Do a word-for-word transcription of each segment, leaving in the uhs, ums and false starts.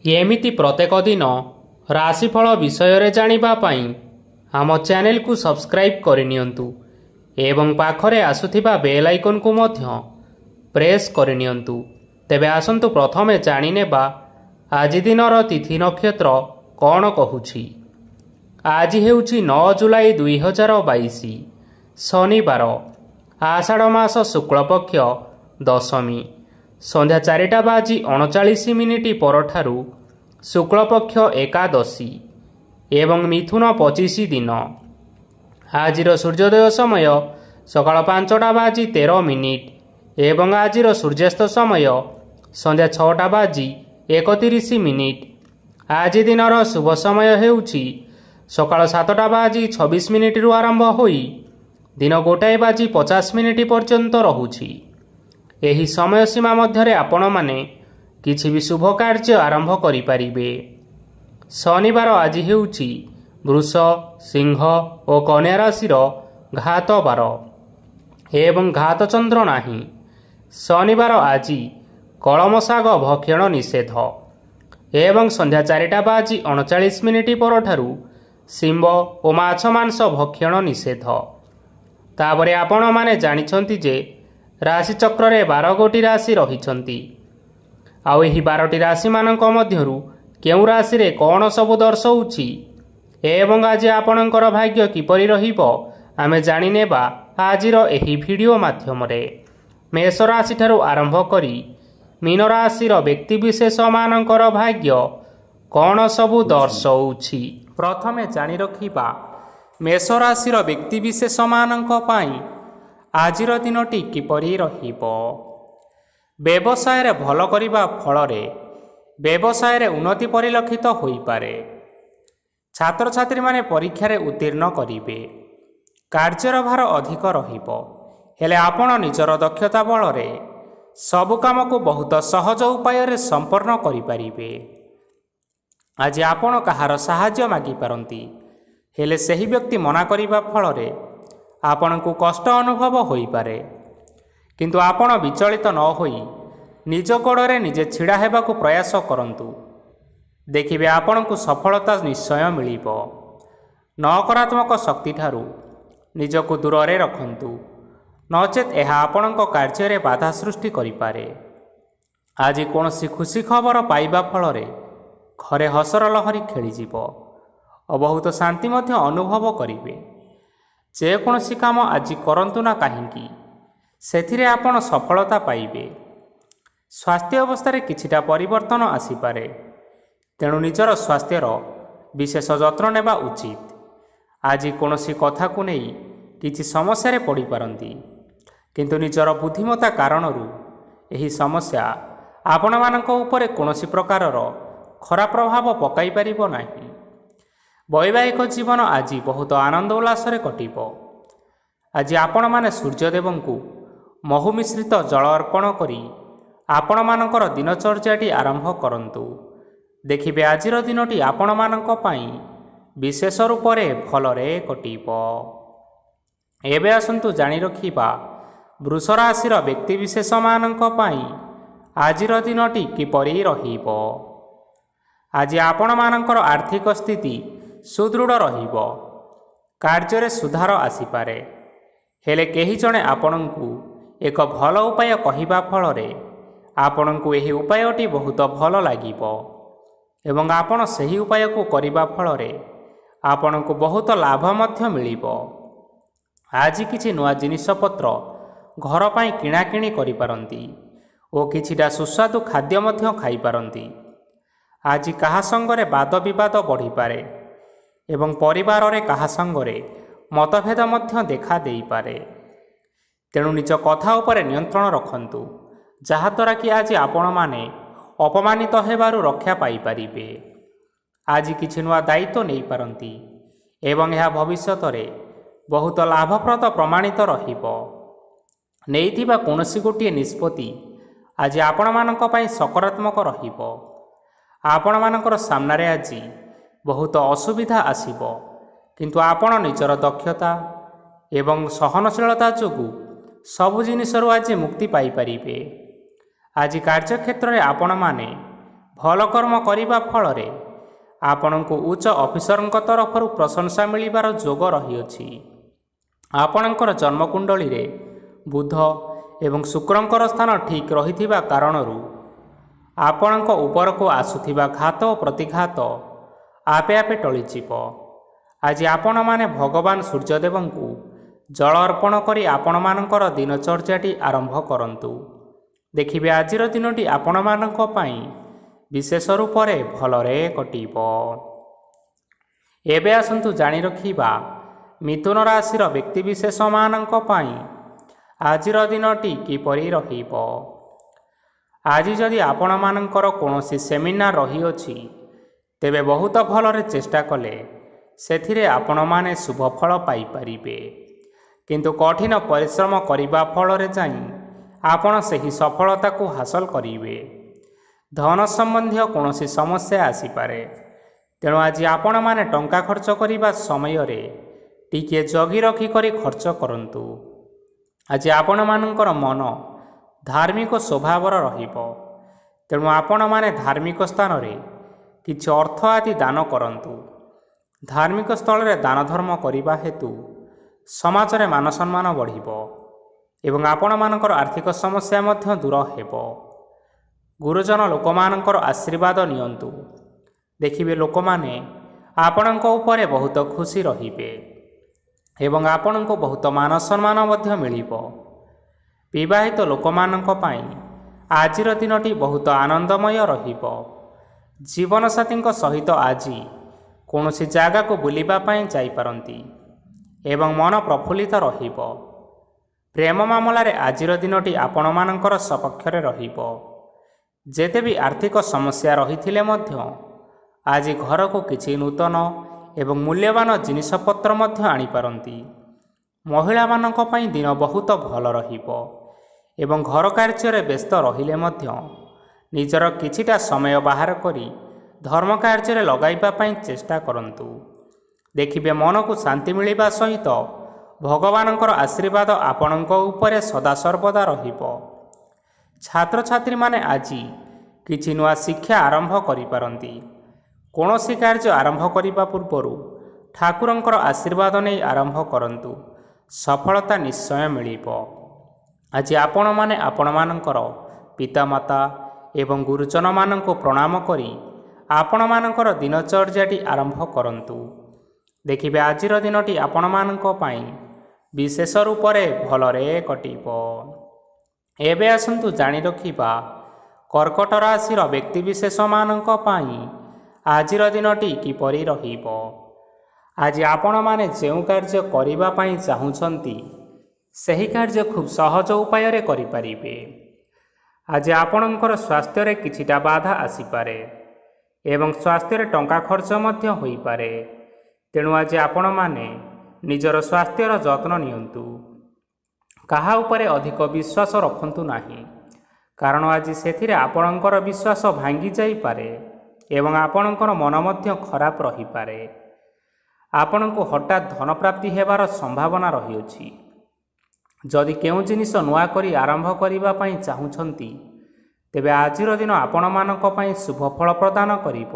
ଏମିତି ପ୍ରତ୍ୟେକ ଦିନ ରାଶିଫଳ ବିଷୟରେ ଜାଣିବା ପାଇଁ ଆମ ଚ୍ୟାନେଲକୁ ସବସ୍କ୍ରାଇବ୍ କରିନିଅନ୍ତୁ ଏବଂ ପାଖରେ ଆସୁଥିବା ବେଲ୍ ଆଇକନ୍କୁ ମଧ୍ୟ ପ୍ରେସ୍ କରିନିଅନ୍ତୁ। ତେବେ ଆସନ୍ତୁ ପ୍ରଥମେ ଜାଣିନେବା ଆଜି ଦିନର ତିଥି ନକ୍ଷତ୍ର କ'ଣ କହୁଛି। ଆଜି ହେଉଛି ନଅ ଜୁଲାଇ ଦୁଇ ହଜାର ବାଇଶ ଶନିବାର, ଆଷାଢ଼ ମାସ ଶୁକ୍ଳପକ୍ଷ ଦଶମୀ। ସନ୍ଧ୍ୟା ଚାରିଟା ବାଜି ଅଣଚାଳିଶ ମିନିଟ୍ ପରଠାରୁ ଶୁକ୍ଳପକ୍ଷ ଏକାଦଶୀ ଏବଂ ମିଥୁନ ପଚିଶ ଦିନ। ଆଜିର ସୂର୍ଯ୍ୟୋଦୟ ସମୟ ସକାଳ ପାଞ୍ଚଟା ବାଜି ତେର ମିନିଟ୍ ଏବଂ ଆଜିର ସୂର୍ଯ୍ୟାସ୍ତ ସମୟ ସନ୍ଧ୍ୟା ଛଅଟା ବାଜି ଏକତିରିଶ ମିନିଟ୍। ଆଜି ଦିନର ଶୁଭ ସମୟ ହେଉଛି ସକାଳ ସାତଟା ବାଜି ଛବିଶ ମିନିଟ୍ରୁ ଆରମ୍ଭ ହୋଇ ଦିନ ଗୋଟାଏ ବାଜି ପଚାଶ ମିନିଟ୍ ପର୍ଯ୍ୟନ୍ତ ରହୁଛି। ଏହି ସମୟ ସୀମା ମଧ୍ୟରେ ଆପଣମାନେ କିଛି ବି ଶୁଭ କାର୍ଯ୍ୟ ଆରମ୍ଭ କରିପାରିବେ। ଶନିବାର ଆଜି ହେଉଛି ବୃଷ, ସିଂହ ଓ କନ୍ୟା ରାଶିର ଘାତବାର ଏବଂ ଘାତଚନ୍ଦ୍ର ନାହିଁ। ଶନିବାର ଆଜି କଳମ ଶାଗ ଭକ୍ଷଣ ନିଷେଧ ଏବଂ ସନ୍ଧ୍ୟା ଚାରିଟା ବାଜି ଅଣଚାଳିଶ ମିନିଟ୍ ପରଠାରୁ ଶିମ୍ବ ଓ ମାଛ ମାଂସ ଭକ୍ଷଣ ନିଷେଧ। ତାପରେ ଆପଣମାନେ ଜାଣିଛନ୍ତି ଯେ ରାଶିଚକ୍ରରେ ବାର ଗୋଟି ରାଶି ରହିଛନ୍ତି, ଆଉ ଏହି ବାରଟି ରାଶିମାନଙ୍କ ମଧ୍ୟରୁ କେଉଁ ରାଶିରେ କ'ଣ ସବୁ ଦର୍ଶାଉଛି ଏବଂ ଆଜି ଆପଣଙ୍କର ଭାଗ୍ୟ କିପରି ରହିବ ଆମେ ଜାଣିନେବା ଆଜିର ଏହି ଭିଡ଼ିଓ ମାଧ୍ୟମରେ। ମେଷ ରାଶିଠାରୁ ଆରମ୍ଭ କରି ମୀନ ରାଶିର ବ୍ୟକ୍ତିବିଶେଷମାନଙ୍କର ଭାଗ୍ୟ କ'ଣ ସବୁ ଦର୍ଶାଉଛି। ପ୍ରଥମେ ଜାଣି ରଖିବା ମେଷ ରାଶିର ବ୍ୟକ୍ତିବିଶେଷମାନଙ୍କ ପାଇଁ ଆଜିର ଦିନଟି କିପରି ରହିବ। ବ୍ୟବସାୟରେ ଭଲ କରିବା ଫଳରେ ବ୍ୟବସାୟରେ ଉନ୍ନତି ପରିଲକ୍ଷିତ ହୋଇପାରେ। ଛାତ୍ରଛାତ୍ରୀମାନେ ପରୀକ୍ଷାରେ ଉତ୍ତୀର୍ଣ୍ଣ କରିବେ। କାର୍ଯ୍ୟର ଭାର ଅଧିକ ରହିବ, ହେଲେ ଆପଣ ନିଜର ଦକ୍ଷତା ବଳରେ ସବୁ କାମକୁ ବହୁତ ସହଜ ଉପାୟରେ ସମ୍ପନ୍ନ କରିପାରିବେ। ଆଜି ଆପଣ କାହାର ସାହାଯ୍ୟ ମାଗିପାରନ୍ତି, ହେଲେ ସେହି ବ୍ୟକ୍ତି ମନା କରିବା ଫଳରେ ଆପଣଙ୍କୁ କଷ୍ଟ ଅନୁଭବ ହୋଇପାରେ। କିନ୍ତୁ ଆପଣ ବିଚଳିତ ନ ହୋଇ ନିଜ ଗୋଡ଼ରେ ନିଜେ ଛିଡ଼ା ହେବାକୁ ପ୍ରୟାସ କରନ୍ତୁ। ଦେଖିବେ ଆପଣଙ୍କୁ ସଫଳତା ନିଶ୍ଚୟ ମିଳିବ। ନକାରାତ୍ମକ ଶକ୍ତିଠାରୁ ନିଜକୁ ଦୂରରେ ରଖନ୍ତୁ, ନଚେତ୍ ଏହା ଆପଣଙ୍କ କାର୍ଯ୍ୟରେ ବାଧା ସୃଷ୍ଟି କରିପାରେ। ଆଜି କୌଣସି ଖୁସି ଖବର ପାଇବା ଫଳରେ ଘରେ ହସର ଲହରୀ ଖେଳିଯିବ ଓ ବହୁତ ଶାନ୍ତି ମଧ୍ୟ ଅନୁଭବ କରିବେ। ଯେକୌଣସି କାମ ଆଜି କରନ୍ତୁ ନା କାହିଁକି, ସେଥିରେ ଆପଣ ସଫଳତା ପାଇବେ। ସ୍ୱାସ୍ଥ୍ୟ ଅବସ୍ଥାରେ କିଛିଟା ପରିବର୍ତ୍ତନ ଆସିପାରେ, ତେଣୁ ନିଜର ସ୍ୱାସ୍ଥ୍ୟର ବିଶେଷ ଯତ୍ନ ନେବା ଉଚିତ। ଆଜି କୌଣସି କଥାକୁ ନେଇ କିଛି ସମସ୍ୟାରେ ପଡ଼ିପାରନ୍ତି, କିନ୍ତୁ ନିଜର ବୁଦ୍ଧିମତା କାରଣରୁ ଏହି ସମସ୍ୟା ଆପଣମାନଙ୍କ ଉପରେ କୌଣସି ପ୍ରକାରର ଖରାପ ପ୍ରଭାବ ପକାଇ ପାରିବ ନାହିଁ। ବୈବାହିକ ଜୀବନ ଆଜି ବହୁତ ଆନନ୍ଦ ଉଲ୍ଲାସରେ କଟିବ। ଆଜି ଆପଣମାନେ ସୂର୍ଯ୍ୟଦେବଙ୍କୁ ମହୁ ମିଶ୍ରିତ ଜଳ ଅର୍ପଣ କରି ଆପଣମାନଙ୍କର ଦିନଚର୍ଯ୍ୟାଟି ଆରମ୍ଭ କରନ୍ତୁ। ଦେଖିବେ ଆଜିର ଦିନଟି ଆପଣମାନଙ୍କ ପାଇଁ ବିଶେଷ ରୂପରେ ଭଲରେ କଟିବ। ଏବେ ଆସନ୍ତୁ ଜାଣି ରଖିବା ବୃଷ ରାଶିର ବ୍ୟକ୍ତିବିଶେଷମାନଙ୍କ ପାଇଁ ଆଜିର ଦିନଟି କିପରି ରହିବ। ଆଜି ଆପଣମାନଙ୍କର ଆର୍ଥିକ ସ୍ଥିତି ସୁଦୃଢ଼ ରହିବ। କାର୍ଯ୍ୟରେ ସୁଧାର ଆସିପାରେ, ହେଲେ କେହି ଜଣେ ଆପଣଙ୍କୁ ଏକ ଭଲ ଉପାୟ କହିବା ଫଳରେ ଆପଣଙ୍କୁ ଏହି ଉପାୟଟି ବହୁତ ଭଲ ଲାଗିବ ଏବଂ ଆପଣ ସେହି ଉପାୟକୁ କରିବା ଫଳରେ ଆପଣଙ୍କୁ ବହୁତ ଲାଭ ମଧ୍ୟ ମିଳିବ। ଆଜି କିଛି ନୂଆ ଜିନିଷପତ୍ର ଘର ପାଇଁ କିଣାକିଣି କରିପାରନ୍ତି ଓ କିଛିଟା ସୁସ୍ୱାଦୁ ଖାଦ୍ୟ ମଧ୍ୟ ଖାଇପାରନ୍ତି। ଆଜି କାହା ସଙ୍ଗରେ ବାଦ ବିବାଦ ବଢ଼ିପାରେ ଏବଂ ପରିବାରରେ କାହା ସଙ୍ଗରେ ମତଭେଦ ମଧ୍ୟ ଦେଖା ଦେଇପାରେ। ତେଣୁ ନିଜ କଥା ଉପରେ ନିୟନ୍ତ୍ରଣ ରଖନ୍ତୁ, ଯାହାଦ୍ୱାରା କି ଆଜି ଆପଣମାନେ ଅପମାନିତ ହେବାରୁ ରକ୍ଷା ପାଇପାରିବେ। ଆଜି କିଛି ନୂଆ ଦାୟିତ୍ୱ ନେଇପାରନ୍ତି ଏବଂ ଏହା ଭବିଷ୍ୟତରେ ବହୁତ ଲାଭପ୍ରଦ ପ୍ରମାଣିତ ରହିବ। ନେଇଥିବା କୌଣସି ଗୋଟିଏ ନିଷ୍ପତ୍ତି ଆଜି ଆପଣମାନଙ୍କ ପାଇଁ ସକାରାତ୍ମକ ରହିବ। ଆପଣମାନଙ୍କର ସାମ୍ନାରେ ଆଜି ବହୁତ ଅସୁବିଧା ଆସିବ, କିନ୍ତୁ ଆପଣ ନିଜର ଦକ୍ଷତା ଏବଂ ସହନଶୀଳତା ଯୋଗୁଁ ସବୁ ଜିନିଷରୁ ଆଜି ମୁକ୍ତି ପାଇପାରିବେ। ଆଜି କାର୍ଯ୍ୟକ୍ଷେତ୍ରରେ ଆପଣମାନେ ଭଲ କର୍ମ କରିବା ଫଳରେ ଆପଣଙ୍କୁ ଉଚ୍ଚ ଅଫିସରଙ୍କ ତରଫରୁ ପ୍ରଶଂସା ମିଳିବାର ଯୋଗ ରହିଅଛି। ଆପଣଙ୍କର ଜନ୍ମକୁଣ୍ଡଳୀରେ ବୁଧ ଏବଂ ଶୁକ୍ରଙ୍କର ସ୍ଥାନ ଠିକ୍ ରହିଥିବା କାରଣରୁ ଆପଣଙ୍କ ଉପରକୁ ଆସୁଥିବା ଘାତ ଓ ପ୍ରତିଘାତ ଆପେ ଆପେ ଟଳିଯିବ। ଆଜି ଆପଣମାନେ ଭଗବାନ ସୂର୍ଯ୍ୟଦେବଙ୍କୁ ଜଳ ଅର୍ପଣ କରି ଆପଣମାନଙ୍କର ଦିନଚର୍ଯ୍ୟାଟି ଆରମ୍ଭ କରନ୍ତୁ। ଦେଖିବେ ଆଜିର ଦିନଟି ଆପଣମାନଙ୍କ ପାଇଁ ବିଶେଷ ରୂପରେ ଭଲରେ କଟିବ। ଏବେ ଆସନ୍ତୁ ଜାଣି ରଖିବା ମିଥୁନ ରାଶିର ବ୍ୟକ୍ତିବିଶେଷମାନଙ୍କ ପାଇଁ ଆଜିର ଦିନଟି କିପରି ରହିବ। ଆଜି ଯଦି ଆପଣମାନଙ୍କର କୌଣସି ସେମିନାର ରହିଅଛି, ତେବେ ବହୁତ ଭଲରେ ଚେଷ୍ଟା କଲେ ସେଥିରେ ଆପଣମାନେ ଶୁଭ ଫଳ ପାଇପାରିବେ। କିନ୍ତୁ କଠିନ ପରିଶ୍ରମ କରିବା ଫଳରେ ଯାଇ ଆପଣ ସେହି ସଫଳତାକୁ ହାସଲ କରିବେ। ଧନ ସମ୍ବନ୍ଧୀୟ କୌଣସି ସମସ୍ୟା ଆସିପାରେ, ତେଣୁ ଆଜି ଆପଣମାନେ ଟଙ୍କା ଖର୍ଚ୍ଚ କରିବା ସମୟରେ ଟିକିଏ ଜଗି ରଖି କରି ଖର୍ଚ୍ଚ କରନ୍ତୁ। ଆଜି ଆପଣମାନଙ୍କର ମନ ଧାର୍ମିକ ସ୍ୱଭାବର ରହିବ, ତେଣୁ ଆପଣମାନେ ଧାର୍ମିକ ସ୍ଥାନରେ କିଛି ଅର୍ଥ ଆଦି ଦାନ କରନ୍ତୁ। ଧାର୍ମିକ ସ୍ଥଳରେ ଦାନ ଧର୍ମ କରିବା ହେତୁ ସମାଜରେ ମାନ ସମ୍ମାନ ବଢ଼ିବ ଏବଂ ଆପଣମାନଙ୍କର ଆର୍ଥିକ ସମସ୍ୟା ମଧ୍ୟ ଦୂର ହେବ। ଗୁରୁଜନ ଲୋକମାନଙ୍କର ଆଶୀର୍ବାଦ ନିଅନ୍ତୁ। ଦେଖିବେ ଲୋକମାନେ ଆପଣଙ୍କ ଉପରେ ବହୁତ ଖୁସି ରହିବେ ଏବଂ ଆପଣଙ୍କୁ ବହୁତ ମାନ ସମ୍ମାନ ମଧ୍ୟ ମିଳିବ। ବିବାହିତ ଲୋକମାନଙ୍କ ପାଇଁ ଆଜିର ଦିନଟି ବହୁତ ଆନନ୍ଦମୟ ରହିବ। ଜୀବନସାଥୀଙ୍କ ସହିତ ଆଜି କୌଣସି ଜାଗାକୁ ବୁଲିବା ପାଇଁ ଯାଇପାରନ୍ତି ଏବଂ ମନ ପ୍ରଫୁଲ୍ଲିତ ରହିବ। ପ୍ରେମ ମାମଲାରେ ଆଜିର ଦିନଟି ଆପଣମାନଙ୍କର ସପକ୍ଷରେ ରହିବ। ଯେତେ ବି ଆର୍ଥିକ ସମସ୍ୟା ରହିଥିଲେ ମଧ୍ୟ ଆଜି ଘରକୁ କିଛି ନୂତନ ଏବଂ ମୂଲ୍ୟବାନ ଜିନିଷପତ୍ର ମଧ୍ୟ ଆଣିପାରନ୍ତି। ମହିଳାମାନଙ୍କ ପାଇଁ ଦିନ ବହୁତ ଭଲ ରହିବ ଏବଂ ଘର କାର୍ଯ୍ୟରେ ବ୍ୟସ୍ତ ରହିଲେ ମଧ୍ୟ ନିଜର କିଛିଟା ସମୟ ବାହାର କରି ଧର୍ମ କାର୍ଯ୍ୟରେ ଲଗାଇବା ପାଇଁ ଚେଷ୍ଟା କରନ୍ତୁ। ଦେଖିବେ ମନକୁ ଶାନ୍ତି ମିଳିବା ସହିତ ଭଗବାନଙ୍କର ଆଶୀର୍ବାଦ ଆପଣଙ୍କ ଉପରେ ସଦାସର୍ବଦା ରହିବ। ଛାତ୍ରଛାତ୍ରୀମାନେ ଆଜି କିଛି ନୂଆ ଶିକ୍ଷା ଆରମ୍ଭ କରିପାରନ୍ତି। କୌଣସି କାର୍ଯ୍ୟ ଆରମ୍ଭ କରିବା ପୂର୍ବରୁ ଠାକୁରଙ୍କର ଆଶୀର୍ବାଦ ନେଇ ଆରମ୍ଭ କରନ୍ତୁ, ସଫଳତା ନିଶ୍ଚୟ ମିଳିବ। ଆଜି ଆପଣମାନେ ଆପଣମାନଙ୍କର ପିତାମାତା ଏବଂ ଗୁରୁଜନମାନଙ୍କୁ ପ୍ରଣାମ କରି ଆପଣମାନଙ୍କର ଦିନଚର୍ଯ୍ୟାଟି ଆରମ୍ଭ କରନ୍ତୁ। ଦେଖିବେ ଆଜିର ଦିନଟି ଆପଣମାନଙ୍କ ପାଇଁ ବିଶେଷ ରୂପରେ ଭଲରେ କଟିବ। ଏବେ ଆସନ୍ତୁ ଜାଣି ରଖିବା କର୍କଟ ରାଶିର ବ୍ୟକ୍ତିବିଶେଷମାନଙ୍କ ପାଇଁ ଆଜିର ଦିନଟି କିପରି ରହିବ। ଆଜି ଆପଣମାନେ ଯେଉଁ କାର୍ଯ୍ୟ କରିବା ପାଇଁ ଚାହୁଁଛନ୍ତି ସେହି କାର୍ଯ୍ୟ ଖୁବ୍ ସହଜ ଉପାୟରେ କରିପାରିବେ। ଆଜି ଆପଣଙ୍କର ସ୍ୱାସ୍ଥ୍ୟରେ କିଛିଟା ବାଧା ଆସିପାରେ ଏବଂ ସ୍ୱାସ୍ଥ୍ୟରେ ଟଙ୍କା ଖର୍ଚ୍ଚ ମଧ୍ୟ ହୋଇପାରେ, ତେଣୁ ଆଜି ଆପଣମାନେ ନିଜର ସ୍ୱାସ୍ଥ୍ୟର ଯତ୍ନ ନିଅନ୍ତୁ। କାହା ଉପରେ ଅଧିକ ବିଶ୍ୱାସ ରଖନ୍ତୁ ନାହିଁ, କାରଣ ଆଜି ସେଥିରେ ଆପଣଙ୍କର ବିଶ୍ୱାସ ଭାଙ୍ଗି ଯାଇପାରେ ଏବଂ ଆପଣଙ୍କର ମନ ମଧ୍ୟ ଖରାପ ରହିପାରେ। ଆପଣଙ୍କୁ ହଠାତ୍ ଧନପ୍ରାପ୍ତି ହେବାର ସମ୍ଭାବନା ରହିଅଛି। ଯଦି କେଉଁ ଜିନିଷ ନୂଆ କରି ଆରମ୍ଭ କରିବା ପାଇଁ ଚାହୁଁଛନ୍ତି, ତେବେ ଆଜିର ଦିନ ଆପଣମାନଙ୍କ ପାଇଁ ଶୁଭ ଫଳ ପ୍ରଦାନ କରିବ।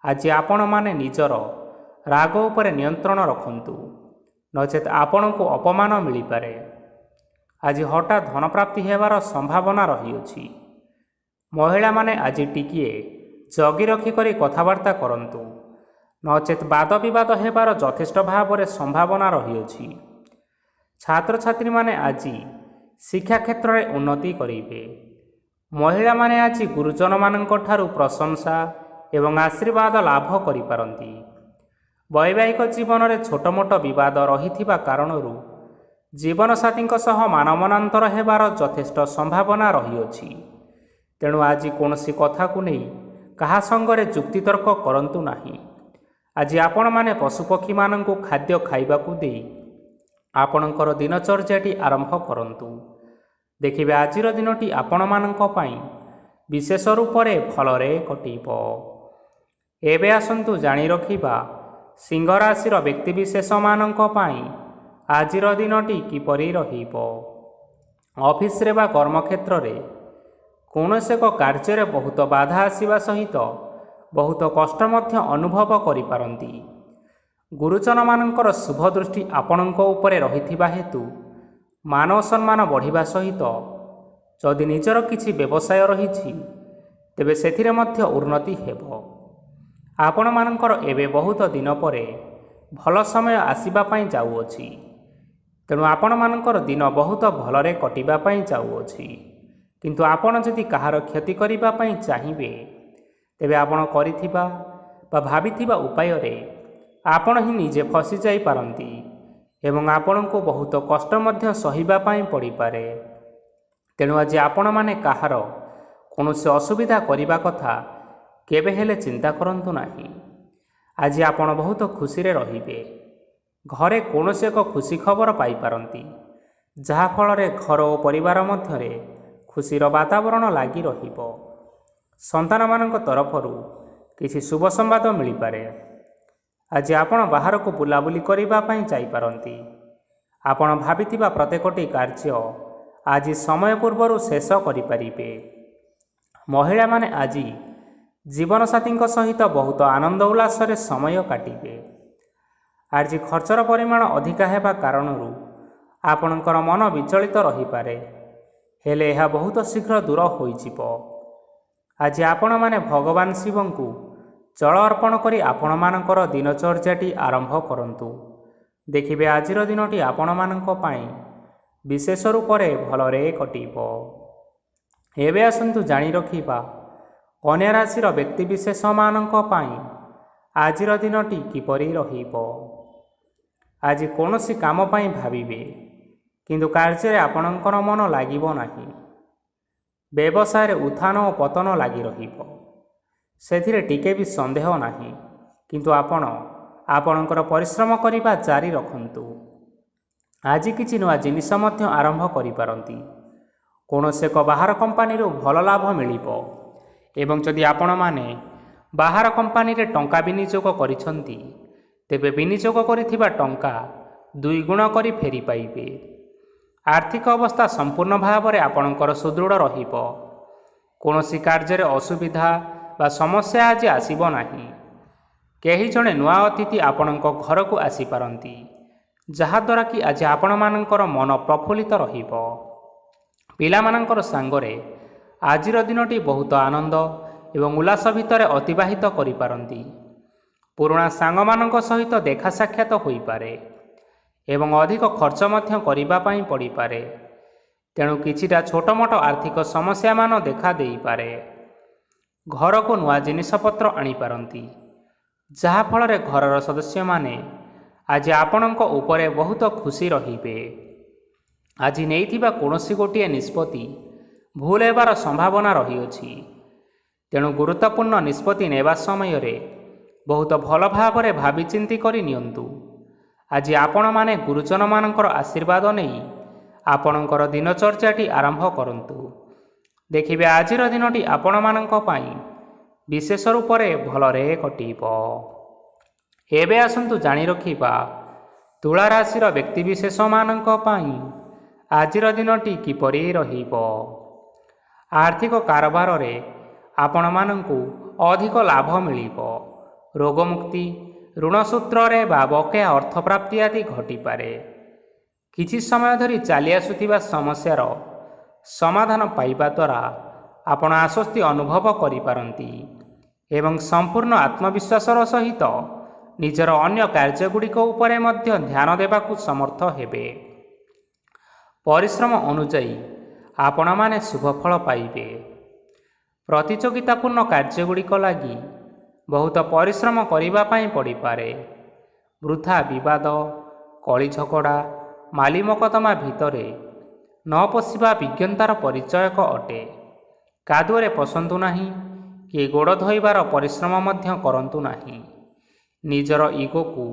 ଆଜି ଆପଣମାନେ ନିଜର ରାଗ ଉପରେ ନିୟନ୍ତ୍ରଣ ରଖନ୍ତୁ, ନଚେତ୍ ଆପଣଙ୍କୁ ଅପମାନ ମିଳିପାରେ। ଆଜି ହଠାତ୍ ଧନପ୍ରାପ୍ତି ହେବାର ସମ୍ଭାବନା ରହିଅଛି। ମହିଳାମାନେ ଆଜି ଟିକିଏ ଜଗି ରଖିକରି କଥାବାର୍ତ୍ତା କରନ୍ତୁ, ନଚେତ୍ ବାଦ ବିବାଦ ହେବାର ଯଥେଷ୍ଟ ଭାବରେ ସମ୍ଭାବନା ରହିଅଛି। ଛାତ୍ରଛାତ୍ରୀମାନେ ଆଜି ଶିକ୍ଷା କ୍ଷେତ୍ରରେ ଉନ୍ନତି କରିବେ। ମହିଳାମାନେ ଆଜି ଗୁରୁଜନମାନଙ୍କ ଠାରୁ ପ୍ରଶଂସା ଏବଂ ଆଶୀର୍ବାଦ ଲାଭ କରିପାରନ୍ତି। ବୈବାହିକ ଜୀବନରେ ଛୋଟମୋଟ ବିବାଦ ରହିଥିବା କାରଣରୁ ଜୀବନସାଥୀଙ୍କ ସହ ମାନମନାନ୍ତର ହେବାର ଯଥେଷ୍ଟ ସମ୍ଭାବନା ରହିଅଛି। ତେଣୁ ଆଜି କୌଣସି କଥାକୁ ନେଇ କାହା ସଙ୍ଗରେ ଯୁକ୍ତିତର୍କ କରନ୍ତୁ ନାହିଁ। ଆଜି ଆପଣମାନେ ପଶୁପକ୍ଷୀମାନଙ୍କୁ ଖାଦ୍ୟ ଖାଇବାକୁ ଦେଇ ଆପଣଙ୍କର ଦିନଚର୍ଯ୍ୟାଟି ଆରମ୍ଭ କରନ୍ତୁ। ଦେଖିବେ ଆଜିର ଦିନଟି ଆପଣମାନଙ୍କ ପାଇଁ ବିଶେଷ ରୂପରେ ଭଲରେ କଟିବ। ଏବେ ଆସନ୍ତୁ ଜାଣି ରଖିବା ସିଂହ ରାଶିର ବ୍ୟକ୍ତିବିଶେଷମାନଙ୍କ ପାଇଁ ଆଜିର ଦିନଟି କିପରି ରହିବ। ଅଫିସରେ ବା କର୍ମକ୍ଷେତ୍ରରେ କୌଣସି ଏକ କାର୍ଯ୍ୟରେ ବହୁତ ବାଧା ଆସିବା ସହିତ ବହୁତ କଷ୍ଟ ମଧ୍ୟ ଅନୁଭବ କରିପାରନ୍ତି। ଗୁରୁଜନମାନଙ୍କର ଶୁଭ ଦୃଷ୍ଟି ଆପଣଙ୍କ ଉପରେ ରହିଥିବା ହେତୁ ମାନ ସମ୍ମାନ ବଢ଼ିବା ସହିତ ଯଦି ନିଜର କିଛି ବ୍ୟବସାୟ ରହିଛି ତେବେ ସେଥିରେ ମଧ୍ୟ ଉନ୍ନତି ହେବ। ଆପଣମାନଙ୍କର ଏବେ ବହୁତ ଦିନ ପରେ ଭଲ ସମୟ ଆସିବା ପାଇଁ ଯାଉଅଛି, ତେଣୁ ଆପଣମାନଙ୍କର ଦିନ ବହୁତ ଭଲରେ କଟିବା ପାଇଁ ଯାଉଅଛି। କିନ୍ତୁ ଆପଣ ଯଦି କାହାର କ୍ଷତି କରିବା ପାଇଁ ଚାହିଁବେ ତେବେ ଆପଣ କରିଥିବା ବା ଭାବିଥିବା ଉପାୟରେ ଆପଣ ହିଁ ନିଜେ ଫସି ଯାଇପାରନ୍ତି ଏବଂ ଆପଣଙ୍କୁ ବହୁତ କଷ୍ଟ ମଧ୍ୟ ସହିବା ପାଇଁ ପଡ଼ିପାରେ। ତେଣୁ ଆଜି ଆପଣମାନେ କାହାର କୌଣସି ଅସୁବିଧା କରିବା କଥା କେବେ ହେଲେ ଚିନ୍ତା କରନ୍ତୁ ନାହିଁ। ଆଜି ଆପଣ ବହୁତ ଖୁସିରେ ରହିବେ। ଘରେ କୌଣସି ଏକ ଖୁସି ଖବର ପାଇପାରନ୍ତି, ଯାହାଫଳରେ ଘର ଓ ପରିବାର ମଧ୍ୟରେ ଖୁସିର ବାତାବରଣ ଲାଗି ରହିବ। ସନ୍ତାନମାନଙ୍କ ତରଫରୁ କିଛି ଶୁଭ ସମ୍ବାଦ ମିଳିପାରେ। ଆଜି ଆପଣ ବାହାରକୁ ବୁଲାବୁଲି କରିବା ପାଇଁ ଯାଇପାରନ୍ତି। ଆପଣ ଭାବିଥିବା ପ୍ରତ୍ୟେକଟି କାର୍ଯ୍ୟ ଆଜି ସମୟ ପୂର୍ବରୁ ଶେଷ କରିପାରିବେ। ମହିଳାମାନେ ଆଜି ଜୀବନସାଥୀଙ୍କ ସହିତ ବହୁତ ଆନନ୍ଦ ଉଲ୍ଲାସରେ ସମୟ କାଟିବେ। ଆଜି ଖର୍ଚ୍ଚର ପରିମାଣ ଅଧିକା ହେବା କାରଣରୁ ଆପଣଙ୍କର ମନ ବିଚଳିତ ରହିପାରେ, ହେଲେ ଏହା ବହୁତ ଶୀଘ୍ର ଦୂର ହୋଇଯିବ। ଆଜି ଆପଣମାନେ ଭଗବାନ ଶିବଙ୍କୁ ଜଳ ଅର୍ପଣ କରି ଆପଣମାନଙ୍କର ଦିନଚର୍ଯ୍ୟାଟି ଆରମ୍ଭ କରନ୍ତୁ। ଦେଖିବେ ଆଜିର ଦିନଟି ଆପଣମାନଙ୍କ ପାଇଁ ବିଶେଷ ରୂପରେ ଭଲରେ କଟିବ। ଏବେ ଆସନ୍ତୁ ଜାଣି ରଖିବା କନ୍ୟା ରାଶିର ବ୍ୟକ୍ତିବିଶେଷମାନଙ୍କ ପାଇଁ ଆଜିର ଦିନଟି କିପରି ରହିବ। ଆଜି କୌଣସି କାମ ପାଇଁ ଭାବିବେ, କିନ୍ତୁ କାର୍ଯ୍ୟରେ ଆପଣଙ୍କର ମନ ଲାଗିବ ନାହିଁ। ବ୍ୟବସାୟରେ ଉତ୍ଥାନ ଓ ପତନ ଲାଗି ରହିବ, ସେଥିରେ ଟିକେ ବି ସନ୍ଦେହ ନାହିଁ। କିନ୍ତୁ ଆପଣ ଆପଣଙ୍କର ପରିଶ୍ରମ କରିବା ଜାରି ରଖନ୍ତୁ। ଆଜି କିଛି ନୂଆ ଜିନିଷ ମଧ୍ୟ ଆରମ୍ଭ କରିପାରନ୍ତି। କୌଣସି ଏକ ବାହାର କମ୍ପାନୀରୁ ଭଲ ଲାଭ ମିଳିବ ଏବଂ ଯଦି ଆପଣମାନେ ବାହାର କମ୍ପାନୀରେ ଟଙ୍କା ବିନିଯୋଗ କରିଛନ୍ତି ତେବେ ବିନିଯୋଗ କରିଥିବା ଟଙ୍କା ଦୁଇ ଗୁଣ କରି ଫେରି ପାଇବେ। ଆର୍ଥିକ ଅବସ୍ଥା ସମ୍ପୂର୍ଣ୍ଣ ଭାବରେ ଆପଣଙ୍କର ସୁଦୃଢ଼ ରହିବ। କୌଣସି କାର୍ଯ୍ୟରେ ଅସୁବିଧା ବା ସମସ୍ୟା ଆଜି ଆସିବ ନାହିଁ। କେହି ଜଣେ ନୂଆ ଅତିଥି ଆପଣଙ୍କ ଘରକୁ ଆସିପାରନ୍ତି, ଯାହାଦ୍ୱାରା କି ଆଜି ଆପଣମାନଙ୍କର ମନ ପ୍ରଫୁଲ୍ଲିତ ରହିବ। ପିଲାମାନଙ୍କର ସାଙ୍ଗରେ ଆଜିର ଦିନଟି ବହୁତ ଆନନ୍ଦ ଏବଂ ଉଲ୍ଲାସ ଭିତରେ ଅତିବାହିତ କରିପାରନ୍ତି। ପୁରୁଣା ସାଙ୍ଗମାନଙ୍କ ସହିତ ଦେଖା ସାକ୍ଷାତ ହୋଇପାରେ ଏବଂ ଅଧିକ ଖର୍ଚ୍ଚ ମଧ୍ୟ କରିବା ପାଇଁ ପଡ଼ିପାରେ। ତେଣୁ କିଛିଟା ଛୋଟମୋଟ ଆର୍ଥିକ ସମସ୍ୟାମାନ ଦେଖା ଦେଇପାରେ। ଘରକୁ ନୂଆ ଜିନିଷପତ୍ର ଆଣିପାରନ୍ତି, ଯାହାଫଳରେ ଘରର ସଦସ୍ୟମାନେ ଆଜି ଆପଣଙ୍କ ଉପରେ ବହୁତ ଖୁସି ରହିବେ। ଆଜି ନେଇଥିବା କୌଣସି ଗୋଟିଏ ନିଷ୍ପତ୍ତି ଭୁଲ ହେବାର ସମ୍ଭାବନା ରହିଅଛି, ତେଣୁ ଗୁରୁତ୍ୱପୂର୍ଣ୍ଣ ନିଷ୍ପତ୍ତି ନେବା ସମୟରେ ବହୁତ ଭଲ ଭାବରେ ଭାବିଚିନ୍ତି କରି ନିଅନ୍ତୁ। ଆଜି ଆପଣମାନେ ଗୁରୁଜନମାନଙ୍କର ଆଶୀର୍ବାଦ ନେଇ ଆପଣଙ୍କର ଦିନଚର୍ଯ୍ୟାଟି ଆରମ୍ଭ କରନ୍ତୁ। ଦେଖିବେ ଆଜିର ଦିନଟି ଆପଣମାନଙ୍କ ପାଇଁ ବିଶେଷ ରୂପରେ ଭଲରେ କଟିବ। ଏବେ ଆସନ୍ତୁ ଜାଣି ରଖିବା ତୁଳା ରାଶିର ବ୍ୟକ୍ତିବିଶେଷମାନଙ୍କ ପାଇଁ ଆଜିର ଦିନଟି କିପରି ରହିବ। ଆର୍ଥିକ କାରବାରରେ ଆପଣମାନଙ୍କୁ ଅଧିକ ଲାଭ ମିଳିବ। ରୋଗମୁକ୍ତି, ଋଣସୂତ୍ରରେ ବା ବକେୟା ଅର୍ଥପ୍ରାପ୍ତି ଆଦି ଘଟିପାରେ। କିଛି ସମୟ ଧରି ଚାଲି ଆସୁଥିବା ସମସ୍ୟାର ସମାଧାନ ପାଇବା ଦ୍ୱାରା ଆପଣ ଆଶ୍ୱସ୍ତି ଅନୁଭବ କରିପାରନ୍ତି ଏବଂ ସମ୍ପୂର୍ଣ୍ଣ ଆତ୍ମବିଶ୍ୱାସର ସହିତ ନିଜର ଅନ୍ୟ କାର୍ଯ୍ୟଗୁଡ଼ିକ ଉପରେ ମଧ୍ୟ ଧ୍ୟାନ ଦେବାକୁ ସମର୍ଥ ହେବେ। ପରିଶ୍ରମ ଅନୁଯାୟୀ ଆପଣମାନେ ଶୁଭଫଳ ପାଇବେ। ପ୍ରତିଯୋଗିତାପୂର୍ଣ୍ଣ କାର୍ଯ୍ୟଗୁଡ଼ିକ ଲାଗି ବହୁତ ପରିଶ୍ରମ କରିବା ପାଇଁ ପଡ଼ିପାରେ। ବୃଥା ବିବାଦ, କଳି ଝଗଡ଼ା, ମାଲିମକଦ୍ଦମା ଭିତରେ ନ ପଶିବା ବିଜ୍ଞତାର ପରିଚୟକ ଅଟେ। କାଦୁଅରେ ପଶନ୍ତୁ ନାହିଁ କି ଗୋଡ଼ ଧୋଇବାର ପରିଶ୍ରମ ମଧ୍ୟ କରନ୍ତୁ ନାହିଁ। ନିଜର ଇଗୋକୁ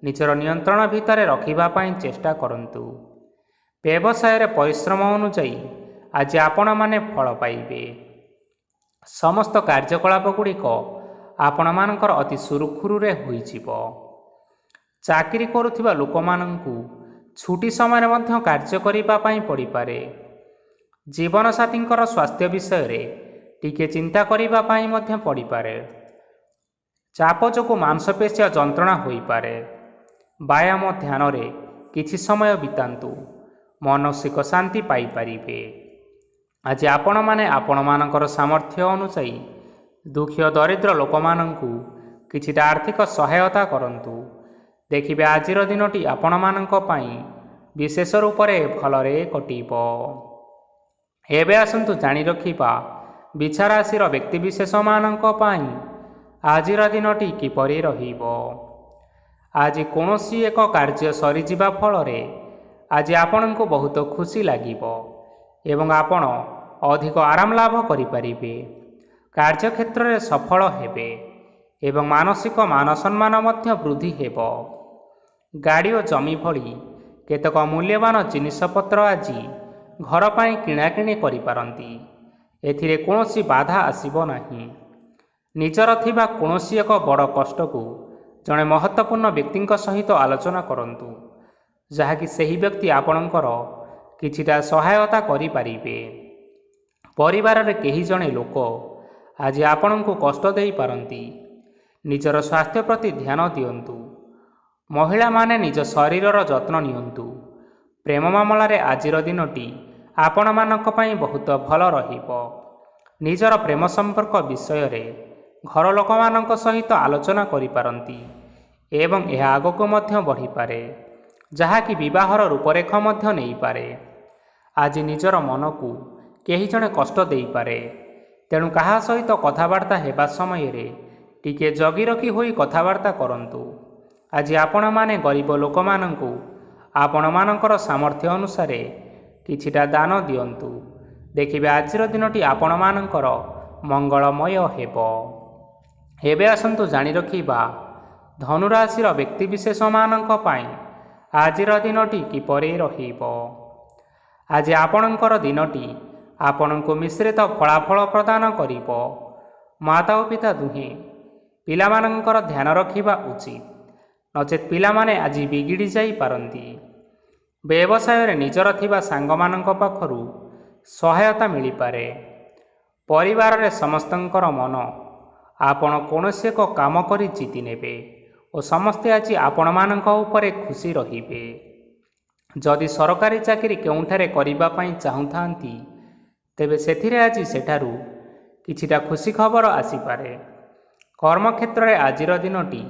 ନିଜର ନିୟନ୍ତ୍ରଣ ଭିତରେ ରଖିବା ପାଇଁ ଚେଷ୍ଟା କରନ୍ତୁ। ବ୍ୟବସାୟରେ ପରିଶ୍ରମ ଅନୁଯାୟୀ ଆଜି ଆପଣମାନେ ଫଳ ପାଇବେ। ସମସ୍ତ କାର୍ଯ୍ୟକଳାପ ଗୁଡ଼ିକ ଆପଣମାନଙ୍କର ଅତି ସୁରୁଖୁରୁରେ ହୋଇଯିବ। ଚାକିରି କରୁଥିବା ଲୋକମାନଙ୍କୁ ଛୁଟି ସମୟରେ ମଧ୍ୟ କାର୍ଯ୍ୟ କରିବା ପାଇଁ ପଡ଼ିପାରେ। ଜୀବନସାଥୀଙ୍କର ସ୍ୱାସ୍ଥ୍ୟ ବିଷୟରେ ଟିକେ ଚିନ୍ତା କରିବା ପାଇଁ ମଧ୍ୟ ପଡ଼ିପାରେ। ଚାପ ଯୋଗୁଁ ମାଂସପେଶୀୟ ଯନ୍ତ୍ରଣା ହୋଇପାରେ। ବ୍ୟାୟାମ ଧ୍ୟାନରେ କିଛି ସମୟ ବିତାନ୍ତୁ, ମାନସିକ ଶାନ୍ତି ପାଇପାରିବେ। ଆଜି ଆପଣମାନେ ଆପଣମାନଙ୍କର ସାମର୍ଥ୍ୟ ଅନୁଯାୟୀ ଦୁଃଖୀ ଓ ଦରିଦ୍ର ଲୋକମାନଙ୍କୁ କିଛିଟା ଆର୍ଥିକ ସହାୟତା କରନ୍ତୁ। ଦେଖିବେ ଆଜିର ଦିନଟି ଆପଣମାନଙ୍କ ପାଇଁ ବିଶେଷ ରୂପରେ ଭଲରେ କଟିବ। ଏବେ ଆସନ୍ତୁ ଜାଣି ରଖିବା ବିଛା ରାଶିର ବ୍ୟକ୍ତିବିଶେଷମାନଙ୍କ ପାଇଁ ଆଜିର ଦିନଟି କିପରି ରହିବ। ଆଜି କୌଣସି ଏକ କାର୍ଯ୍ୟ ସରିଯିବା ଫଳରେ ଆଜି ଆପଣଙ୍କୁ ବହୁତ ଖୁସି ଲାଗିବ ଏବଂ ଆପଣ ଅଧିକ ଆରାମ ଲାଭ କରିପାରିବେ। କାର୍ଯ୍ୟକ୍ଷେତ୍ରରେ ସଫଳ ହେବେ ଏବଂ ମାନସିକ ମାନସମ୍ମାନ ମଧ୍ୟ ବୃଦ୍ଧି ହେବ। ଗାଡ଼ି ଓ ଜମି ଭଳି କେତେକ ମୂଲ୍ୟବାନ ଜିନିଷପତ୍ର ଆଜି ଘର ପାଇଁ କିଣାକିଣି କରିପାରନ୍ତି। ଏଥିରେ କୌଣସି ବାଧା ଆସିବ ନାହିଁ। ନିଜର ଥିବା କୌଣସି ଏକ ବଡ଼ କଷ୍ଟକୁ ଜଣେ ମହତ୍ତ୍ୱପୂର୍ଣ୍ଣ ବ୍ୟକ୍ତିଙ୍କ ସହିତ ଆଲୋଚନା କରନ୍ତୁ, ଯାହାକି ସେହି ବ୍ୟକ୍ତି ଆପଣଙ୍କର କିଛିଟା ସହାୟତା କରିପାରିବେ। ପରିବାରରେ କେହି ଜଣେ ଲୋକ ଆଜି ଆପଣଙ୍କୁ କଷ୍ଟ ଦେଇପାରନ୍ତି। ନିଜର ସ୍ୱାସ୍ଥ୍ୟ ପ୍ରତି ଧ୍ୟାନ ଦିଅନ୍ତୁ। ମହିଳାମାନେ ନିଜ ଶରୀରର ଯତ୍ନ ନିଅନ୍ତୁ। ପ୍ରେମ ମାମଲାରେ ଆଜିର ଦିନଟି ଆପଣମାନଙ୍କ ପାଇଁ ବହୁତ ଭଲ ରହିବ। ନିଜର ପ୍ରେମ ସମ୍ପର୍କ ବିଷୟରେ ଘର ଲୋକମାନଙ୍କ ସହିତ ଆଲୋଚନା କରିପାରନ୍ତି ଏବଂ ଏହା ଆଗକୁ ମଧ୍ୟ ବଢ଼ିପାରେ, ଯାହାକି ବିବାହର ରୂପରେଖ ମଧ୍ୟ ନେଇପାରେ। ଆଜି ନିଜର ମନକୁ କେହି ଜଣେ କଷ୍ଟ ଦେଇପାରେ, ତେଣୁ କାହା ସହିତ କଥାବାର୍ତ୍ତା ହେବା ସମୟରେ ଟିକିଏ ଜଗି ରଖି ହୋଇ କଥାବାର୍ତ୍ତା କରନ୍ତୁ। ଆଜି ଆପଣମାନେ ଗରିବ ଲୋକମାନଙ୍କୁ ଆପଣମାନଙ୍କର ସାମର୍ଥ୍ୟ ଅନୁସାରେ କିଛିଟା ଦାନ ଦିଅନ୍ତୁ। ଦେଖିବେ ଆଜିର ଦିନଟି ଆପଣମାନଙ୍କର ମଙ୍ଗଳମୟ ହେବ। ଏବେ ଆସନ୍ତୁ ଜାଣି ରଖିବା ଧନୁରାଶିର ବ୍ୟକ୍ତିବିଶେଷମାନଙ୍କ ପାଇଁ ଆଜିର ଦିନଟି କିପରି ରହିବ। ଆଜି ଆପଣଙ୍କର ଦିନଟି ଆପଣଙ୍କୁ ମିଶ୍ରିତ ଫଳାଫଳ ପ୍ରଦାନ କରିବ। ମାତା ଓ ପିତା ଦୁହେଁ ପିଲାମାନଙ୍କର ଧ୍ୟାନ ରଖିବା ଉଚିତ, ନଚେତ୍ ପିଲାମାନେ ଆଜି ବିଗିଡ଼ି ଯାଇପାରନ୍ତି। ବ୍ୟବସାୟରେ ନିଜର ଥିବା ସାଙ୍ଗମାନଙ୍କ ପାଖରୁ ସହାୟତା ମିଳିପାରେ। ପରିବାରରେ ସମସ୍ତଙ୍କର ମନ ଆପଣ କୌଣସି ଏକ କାମ କରି ଜିତି ନେବେ ଓ ସମସ୍ତେ ଆଜି ଆପଣମାନଙ୍କ ଉପରେ ଖୁସି ରହିବେ। ଯଦି ସରକାରୀ ଚାକିରି କେଉଁଠାରେ କରିବା ପାଇଁ ଚାହୁଁଥାନ୍ତି, ତେବେ ସେଥିରେ ଆଜି ସେଠାରୁ କିଛିଟା ଖୁସି ଖବର ଆସିପାରେ। କର୍ମକ୍ଷେତ୍ରରେ ଆଜିର ଦିନଟି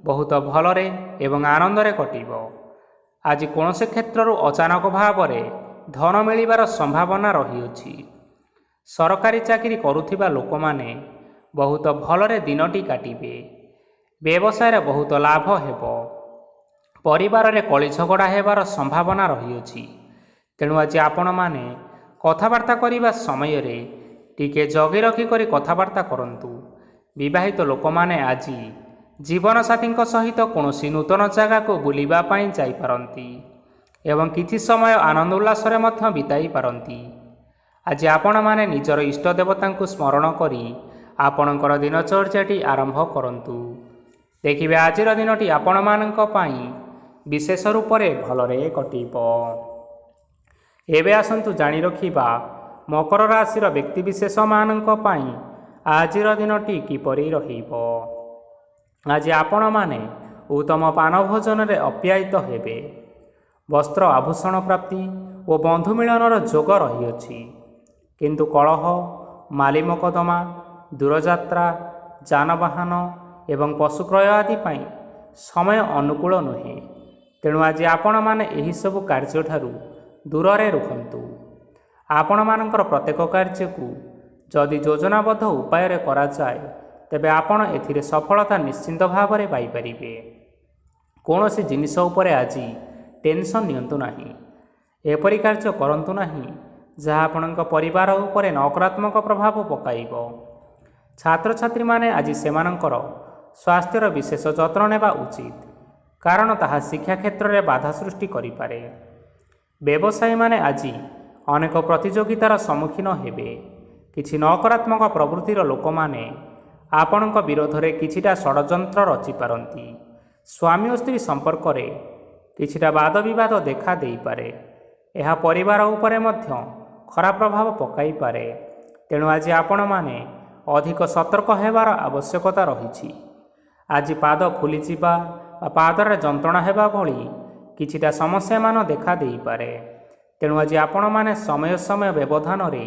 ବହୁତ ଭଲରେ ଏବଂ ଆନନ୍ଦରେ କଟିବ। ଆଜି କୌଣସି କ୍ଷେତ୍ରରୁ ଅଚାନକ ଭାବରେ ଧନ ମିଳିବାର ସମ୍ଭାବନା ରହିଅଛି। ସରକାରୀ ଚାକିରି କରୁଥିବା ଲୋକମାନେ ବହୁତ ଭଲରେ ଦିନଟି କାଟିବେ। ବ୍ୟବସାୟରେ ବହୁତ ଲାଭ ହେବ। ପରିବାରରେ କଳି ଝଗଡ଼ା ହେବାର ସମ୍ଭାବନା ରହିଅଛି, ତେଣୁ ଆଜି ଆପଣମାନେ କଥାବାର୍ତ୍ତା କରିବା ସମୟରେ ଟିକେ ଜଗି ରଖି କରି କଥାବାର୍ତ୍ତା କରନ୍ତୁ। ବିବାହିତ ଲୋକମାନେ ଆଜି ଜୀବନସାଥୀଙ୍କ ସହିତ କୌଣସି ନୂତନ ଜାଗାକୁ ବୁଲିବା ପାଇଁ ଯାଇପାରନ୍ତି ଏବଂ କିଛି ସମୟ ଆନନ୍ଦ ଉଲ୍ଲାସରେ ମଧ୍ୟ ବିତାଇ ପାରନ୍ତି। ଆଜି ଆପଣମାନେ ନିଜର ଇଷ୍ଟ ଦେବତାଙ୍କୁ ସ୍ମରଣ କରି ଆପଣଙ୍କର ଦିନଚର୍ଯ୍ୟାଟି ଆରମ୍ଭ କରନ୍ତୁ। ଦେଖିବେ ଆଜିର ଦିନଟି ଆପଣମାନଙ୍କ ପାଇଁ ବିଶେଷ ରୂପରେ ଭଲରେ କଟିବ। ଏବେ ଆସନ୍ତୁ ଜାଣି ରଖିବା ମକର ରାଶିର ବ୍ୟକ୍ତିବିଶେଷମାନଙ୍କ ପାଇଁ ଆଜିର ଦିନଟି କିପରି ରହିବ। ଆଜି ଆପଣମାନେ ଉତ୍ତମ ପାନ ଭୋଜନରେ ଅପ୍ୟାୟିତ ହେବେ। ବସ୍ତ୍ର ଆଭୂଷଣ ପ୍ରାପ୍ତି ଓ ବନ୍ଧୁ ମିଳନର ଯୋଗ ରହିଅଛି, କିନ୍ତୁ କଳହ, ମାଲିମକଦ୍ଦମା, ଦୂରଯାତ୍ରା, ଯାନବାହନ ଏବଂ ପଶୁକ୍ରୟ ଆଦି ପାଇଁ ସମୟ ଅନୁକୂଳ ନୁହେଁ। ତେଣୁ ଆଜି ଆପଣମାନେ ଏହିସବୁ କାର୍ଯ୍ୟଠାରୁ ଦୂରରେ ରୁହନ୍ତୁ। ଆପଣମାନଙ୍କର ପ୍ରତ୍ୟେକ କାର୍ଯ୍ୟକୁ ଯଦି ଯୋଜନାବଦ୍ଧ ଉପାୟରେ କରାଯାଏ, ତେବେ ଆପଣ ଏଥିରେ ସଫଳତା ନିଶ୍ଚିନ୍ତ ଭାବରେ ପାଇପାରିବେ। କୌଣସି ଜିନିଷ ଉପରେ ଆଜି ଟେନସନ୍ ନିଅନ୍ତୁ ନାହିଁ। ଏପରି କାର୍ଯ୍ୟ କରନ୍ତୁ ନାହିଁ ଯାହା ଆପଣଙ୍କ ପରିବାର ଉପରେ ନକାରାତ୍ମକ ପ୍ରଭାବ ପକାଇବ। ଛାତ୍ରଛାତ୍ରୀମାନେ ଆଜି ସେମାନଙ୍କର ସ୍ୱାସ୍ଥ୍ୟର ବିଶେଷ ଯତ୍ନ ନେବା ଉଚିତ, କାରଣ ତାହା ଶିକ୍ଷା କ୍ଷେତ୍ରରେ ବାଧା ସୃଷ୍ଟି କରିପାରେ। ବ୍ୟବସାୟୀମାନେ ଆଜି ଅନେକ ପ୍ରତିଯୋଗିତାର ସମ୍ମୁଖୀନ ହେବେ। କିଛି ନକାରାତ୍ମକ ପ୍ରବୃତ୍ତିର ଲୋକମାନେ ଆପଣଙ୍କ ବିରୋଧରେ କିଛିଟା ଷଡ଼ଯନ୍ତ୍ର ରଚିପାରନ୍ତି। ସ୍ୱାମୀ ଓ ସ୍ତ୍ରୀ ସମ୍ପର୍କରେ କିଛିଟା ବାଦ ବିବାଦ ଦେଖା ଦେଇପାରେ। ଏହା ପରିବାର ଉପରେ ମଧ୍ୟ ଖରାପ ପ୍ରଭାବ ପକାଇପାରେ। ତେଣୁ ଆଜି ଆପଣମାନେ ଅଧିକ ସତର୍କ ହେବାର ଆବଶ୍ୟକତା ରହିଛି। ଆଜି ପାଦ ଫୁଲିଯିବା ବା ପାଦରେ ଯନ୍ତ୍ରଣା ହେବା ଭଳି କିଛିଟା ସମସ୍ୟାମାନ ଦେଖା ଦେଇପାରେ। ତେଣୁ ଆଜି ଆପଣମାନେ ସମୟ ସମୟ ବ୍ୟବଧାନରେ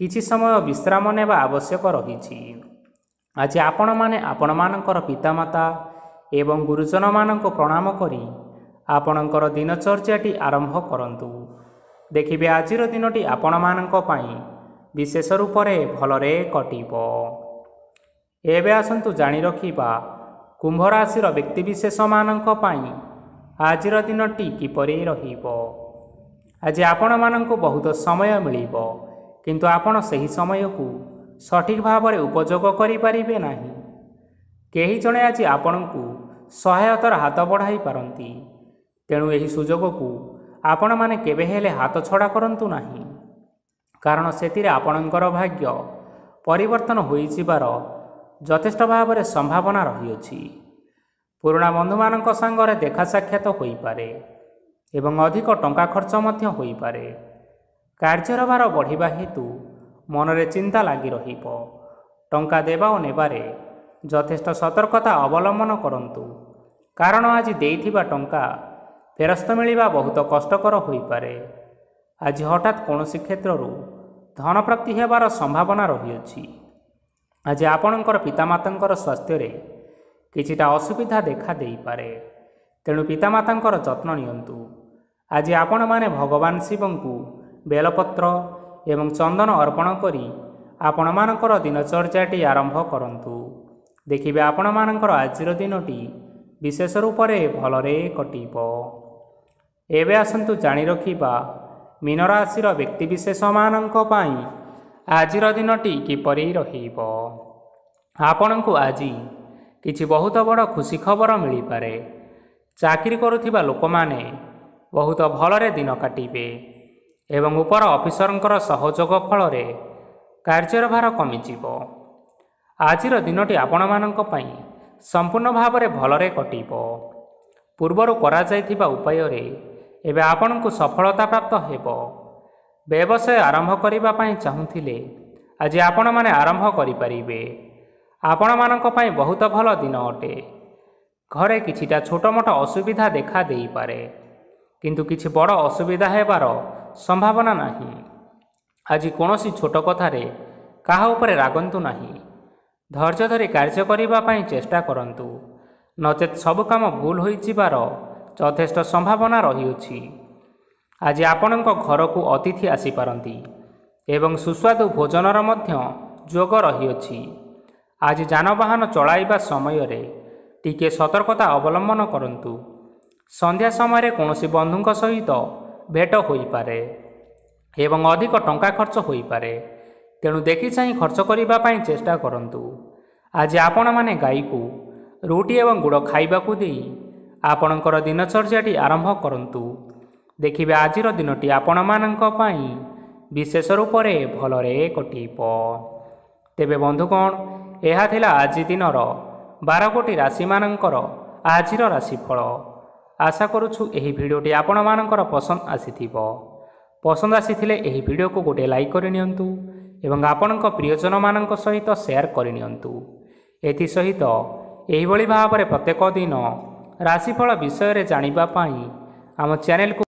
କିଛି ସମୟ ବିଶ୍ରାମ ନେବା ଆବଶ୍ୟକ ରହିଛି। ଆଜି ଆପଣମାନେ ଆପଣମାନଙ୍କର ପିତାମାତା ଏବଂ ଗୁରୁଜନମାନଙ୍କୁ ପ୍ରଣାମ କରି ଆପଣଙ୍କର ଦିନଚର୍ଯ୍ୟାଟି ଆରମ୍ଭ କରନ୍ତୁ। ଦେଖିବେ ଆଜିର ଦିନଟି ଆପଣମାନଙ୍କ ପାଇଁ ବିଶେଷ ରୂପରେ ଭଲରେ କଟିବ। ଏବେ ଆସନ୍ତୁ ଜାଣି ରଖିବା କୁମ୍ଭ ରାଶିର ବ୍ୟକ୍ତିବିଶେଷମାନଙ୍କ ପାଇଁ ଆଜିର ଦିନଟି କିପରି ରହିବ। ଆଜି ଆପଣମାନଙ୍କୁ ବହୁତ ସମୟ ମିଳିବ, କିନ୍ତୁ ଆପଣ ସେହି ସମୟକୁ ସଠିକ୍ ଭାବରେ ଉପଯୋଗ କରିପାରିବେ ନାହିଁ। କେହି ଜଣେ ଆଜି ଆପଣଙ୍କୁ ସହାୟତାର ହାତ ବଢ଼ାଇ ପାରନ୍ତି, ତେଣୁ ଏହି ସୁଯୋଗକୁ ଆପଣମାନେ କେବେ ହେଲେ ହାତ ଛଡ଼ା କରନ୍ତୁ ନାହିଁ, କାରଣ ସେଥିରେ ଆପଣଙ୍କର ଭାଗ୍ୟ ପରିବର୍ତ୍ତନ ହୋଇଯିବାର ଯଥେଷ୍ଟ ଭାବରେ ସମ୍ଭାବନା ରହିଅଛି। ପୁରୁଣା ବନ୍ଧୁମାନଙ୍କ ସାଙ୍ଗରେ ଦେଖା ସାକ୍ଷାତ ହୋଇପାରେ ଏବଂ ଅଧିକ ଟଙ୍କା ଖର୍ଚ୍ଚ ମଧ୍ୟ ହୋଇପାରେ। କାର୍ଯ୍ୟର ଭାର ବଢ଼ିବା ହେତୁ ମନରେ ଚିନ୍ତା ଲାଗି ରହିବ। ଟଙ୍କା ଦେବା ଓ ନେବାରେ ଯଥେଷ୍ଟ ସତର୍କତା ଅବଲମ୍ବନ କରନ୍ତୁ, କାରଣ ଆଜି ଦେଇଥିବା ଟଙ୍କା ଫେରସ୍ତ ମିଳିବା ବହୁତ କଷ୍ଟକର ହୋଇପାରେ। ଆଜି ହଠାତ୍ କୌଣସି କ୍ଷେତ୍ରରୁ ଧନପ୍ରାପ୍ତି ହେବାର ସମ୍ଭାବନା ରହିଅଛି। ଆଜି ଆପଣଙ୍କର ପିତାମାତାଙ୍କର ସ୍ୱାସ୍ଥ୍ୟରେ କିଛିଟା ଅସୁବିଧା ଦେଖା ଦେଇପାରେ, ତେଣୁ ପିତାମାତାଙ୍କର ଯତ୍ନ ନିଅନ୍ତୁ। ଆଜି ଆପଣମାନେ ଭଗବାନ ଶିବଙ୍କୁ ବେଲପତ୍ର ଏବଂ ଚନ୍ଦନ ଅର୍ପଣ କରି ଆପଣମାନଙ୍କର ଦିନଚର୍ଯ୍ୟାଟି ଆରମ୍ଭ କରନ୍ତୁ। ଦେଖିବେ ଆପଣମାନଙ୍କର ଆଜିର ଦିନଟି ବିଶେଷ ରୂପରେ ଭଲରେ କଟିବ। ଏବେ ଆସନ୍ତୁ ଜାଣି ରଖିବା ମୀନରାଶିର ବ୍ୟକ୍ତିବିଶେଷମାନଙ୍କ ପାଇଁ ଆଜିର ଦିନଟି କିପରି ରହିବ। ଆପଣଙ୍କୁ ଆଜି କିଛି ବହୁତ ବଡ଼ ଖୁସି ଖବର ମିଳିପାରେ। ଚାକିରି କରୁଥିବା ଲୋକମାନେ ବହୁତ ଭଲରେ ଦିନ କାଟିବେ ଏବଂ ଉପର ଅଫିସରଙ୍କର ସହଯୋଗ ଫଳରେ କାର୍ଯ୍ୟର ଭାର କମିଯିବ। ଆଜିର ଦିନଟି ଆପଣମାନଙ୍କ ପାଇଁ ସମ୍ପୂର୍ଣ୍ଣ ଭାବରେ ଭଲରେ କଟିବ। ପୂର୍ବରୁ କରାଯାଇଥିବା ଉପାୟରେ ଏବେ ଆପଣଙ୍କୁ ସଫଳତା ପ୍ରାପ୍ତ ହେବ। ବ୍ୟବସାୟ ଆରମ୍ଭ କରିବା ପାଇଁ ଚାହୁଁଥିଲେ ଆଜି ଆପଣମାନେ ଆରମ୍ଭ କରିପାରିବେ। ଆପଣମାନଙ୍କ ପାଇଁ ବହୁତ ଭଲ ଦିନ ଅଟେ। ଘରେ କିଛିଟା ଛୋଟମୋଟ ଅସୁବିଧା ଦେଖା ଦେଇପାରେ, କିନ୍ତୁ କିଛି ବଡ଼ ଅସୁବିଧା ହେବାର ସମ୍ଭାବନା ନାହିଁ। ଆଜି କୌଣସି ଛୋଟ କଥାରେ କାହା ଉପରେ ରାଗନ୍ତୁ ନାହିଁ। ଧୈର୍ଯ୍ୟ ଧରି କାର୍ଯ୍ୟ କରିବା ପାଇଁ ଚେଷ୍ଟା କରନ୍ତୁ, ନଚେତ୍ ସବୁ କାମ ଭୁଲ ହୋଇଯିବାର ଯଥେଷ୍ଟ ସମ୍ଭାବନା ରହିଅଛି। ଆଜି ଆପଣଙ୍କ ଘରକୁ ଅତିଥି ଆସିପାରନ୍ତି ଏବଂ ସୁସ୍ୱାଦୁ ଭୋଜନର ମଧ୍ୟ ଯୋଗ ରହିଅଛି। ଆଜି ଯାନବାହନ ଚଳାଇବା ସମୟରେ ଟିକିଏ ସତର୍କତା ଅବଲମ୍ବନ କରନ୍ତୁ। ସନ୍ଧ୍ୟା ସମୟରେ କୌଣସି ବନ୍ଧୁଙ୍କ ସହିତ ଭେଟ ହୋଇପାରେ ଏବଂ ଅଧିକ ଟଙ୍କା ଖର୍ଚ୍ଚ ହୋଇପାରେ, ତେଣୁ ଦେଖି ଚାହିଁ ଖର୍ଚ୍ଚ କରିବା ପାଇଁ ଚେଷ୍ଟା କରନ୍ତୁ। ଆଜି ଆପଣମାନେ ଗାଈକୁ ରୁଟି ଏବଂ ଗୁଡ଼ ଖାଇବାକୁ ଦେଇ ଆପଣଙ୍କର ଦିନଚର୍ଯ୍ୟାଟି ଆରମ୍ଭ କରନ୍ତୁ। ଦେଖିବେ ଆଜିର ଦିନଟି ଆପଣମାନଙ୍କ ପାଇଁ ବିଶେଷ ରୂପରେ ଭଲରେ କଟିବ। ତେବେ ବନ୍ଧୁଗଣ, ଏହା ଥିଲା ଆଜି ଦିନର ବାର ଗୋଟି ରାଶିମାନଙ୍କର ଆଜିର ରାଶିଫଳ। ଆଶା କରୁଛୁ ଏହି ଭିଡ଼ିଓଟି ଆପଣମାନଙ୍କର ପସନ୍ଦ ଆସିଥିବ। ପସନ୍ଦ ଆସିଥିଲେ ଏହି ଭିଡ଼ିଓକୁ ଗୋଟିଏ ଲାଇକ୍ କରିନିଅନ୍ତୁ ଏବଂ ଆପଣଙ୍କ ପ୍ରିୟଜନମାନଙ୍କ ସହିତ ସେୟାର କରିନିଅନ୍ତୁ। ଏଥିସହିତ ଏହିଭଳି ଭାବରେ ପ୍ରତ୍ୟେକ ଦିନ ରାଶିଫଳ ବିଷୟରେ ଜାଣିବା ପାଇଁ ଆମ ଚ୍ୟାନେଲକୁ